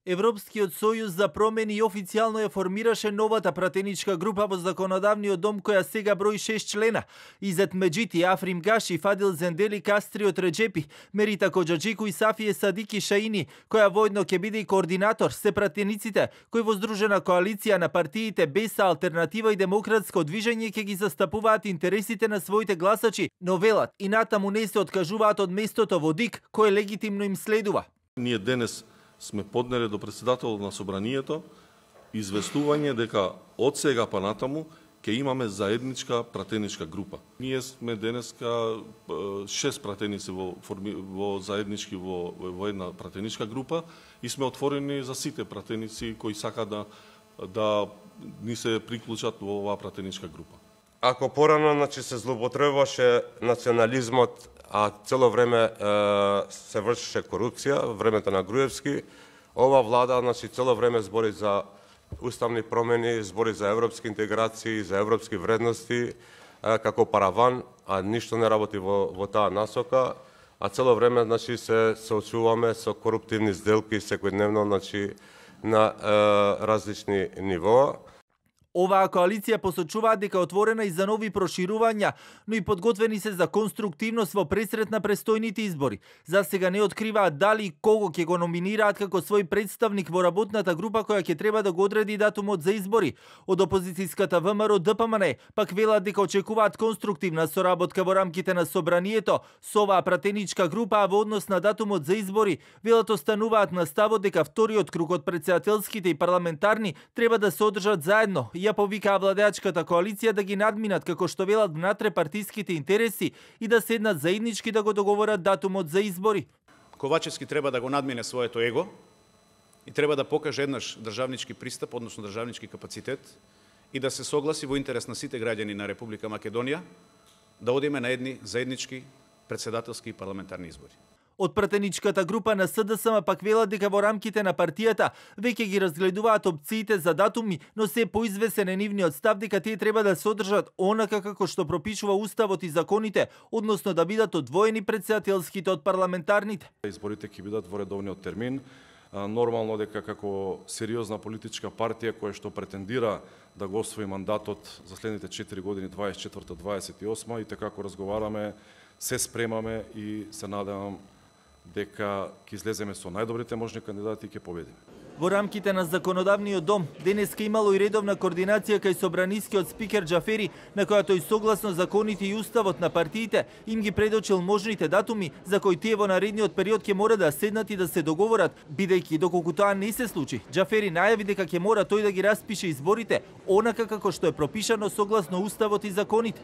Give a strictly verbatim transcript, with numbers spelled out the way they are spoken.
Европскиот сојуз за промени официјално ја формираше новата пратеничка група во законодавниот дом која сега брои шест члена. Изет Меджити, Африм Гаши, Фадил Зендели, Кастриот Реджепи, Мерита Коџаџику и Сафие Садики Шаини, која воедно ќе биде и координатор, се пратениците кои во здружена коалиција на партиите Беса, Алтернатива и Демократско движење ќе ги застапуваат интересите на своите гласачи, но велат и натаму не се откажуваат од местото во ДИК кое легитимно им следува. Ние денес сме поднели до председателот на собранието известување дека од сега па натаму ќе имаме заедничка пратеничка група. Ние сме денеска шест пратеници во, во заеднички во, во една пратеничка група и сме отворени за сите пратеници кои сакаат да, да ни се приклучат во оваа пратеничка група. Ако порано значи, се злоупотребуваше национализмот, а цело време е, се вршеше корупција, времето на Груевски, ова влада значи, цело време збори за уставни промени, збори за европски интеграции, за европски вредности, е, како параван, а ништо не работи во, во таа насока, а цело време значи, се соочуваме со коруптивни сделки секојдневно значи, на е, различни нивоа. Оваа коалиција посочуваат дека е отворена и за нови проширувања, но и подготвени се за конструктивност во пресрет на престојните избори. За сега не откриваат дали и кого ќе го номинираат како свој представник во работната група која ќе треба да го одреди датумот за избори. Од опозицијската ВМРО ДПМН пак велат дека очекуваат конструктивна соработка во рамките на собранието со оваа пратеничка група, а во однос на датумот за избори велат остануваат на ставот дека вториот круг од претседателските и парламентарни треба да се одржат заедно. Ја повикаа владеачката коалиција да ги надминат како што велат внатре партиските интереси и да седнат заеднички да го договорат датумот за избори. Ковачевски треба да го надмине своето его и треба да покаже еднаш државнички пристап, односно државнички капацитет и да се согласи во интерес на сите граѓани на Република Македонија да одиме на едни заеднички претседателски и парламентарни избори. Од пратеничката група на СДСМ пак велат дека во рамките на партијата веќе ги разгледуваат опциите за датуми, но се поизвесен е нивниот став дека тие треба да се одржат онака како што пропишува уставот и законите, односно да бидат одвоени претседателските од парламентарните. Изборите ќе бидат во редовниот термин. Нормално дека како сериозна политичка партија која што претендира да го освои мандатот за следните четири години, дваесет и четврта до дваесет и осма, и така како разговараме, се спремаме и се надевам дека ќе излеземе со најдобрите можни кандидати и ќе победиме. Во рамките на законодавниот дом денеска имало и редовна координација кај собранискиот спикер Џафери, на која тој согласно законите и уставот на партиите им ги предочил можните датуми за кои тие во наредниот период ќе мора да седнат и да се договорат, бидејќи доколку тоа не се случи, Џафери најави дека ќе мора тој да ги распише изборите онака како што е пропишано согласно уставот и законите.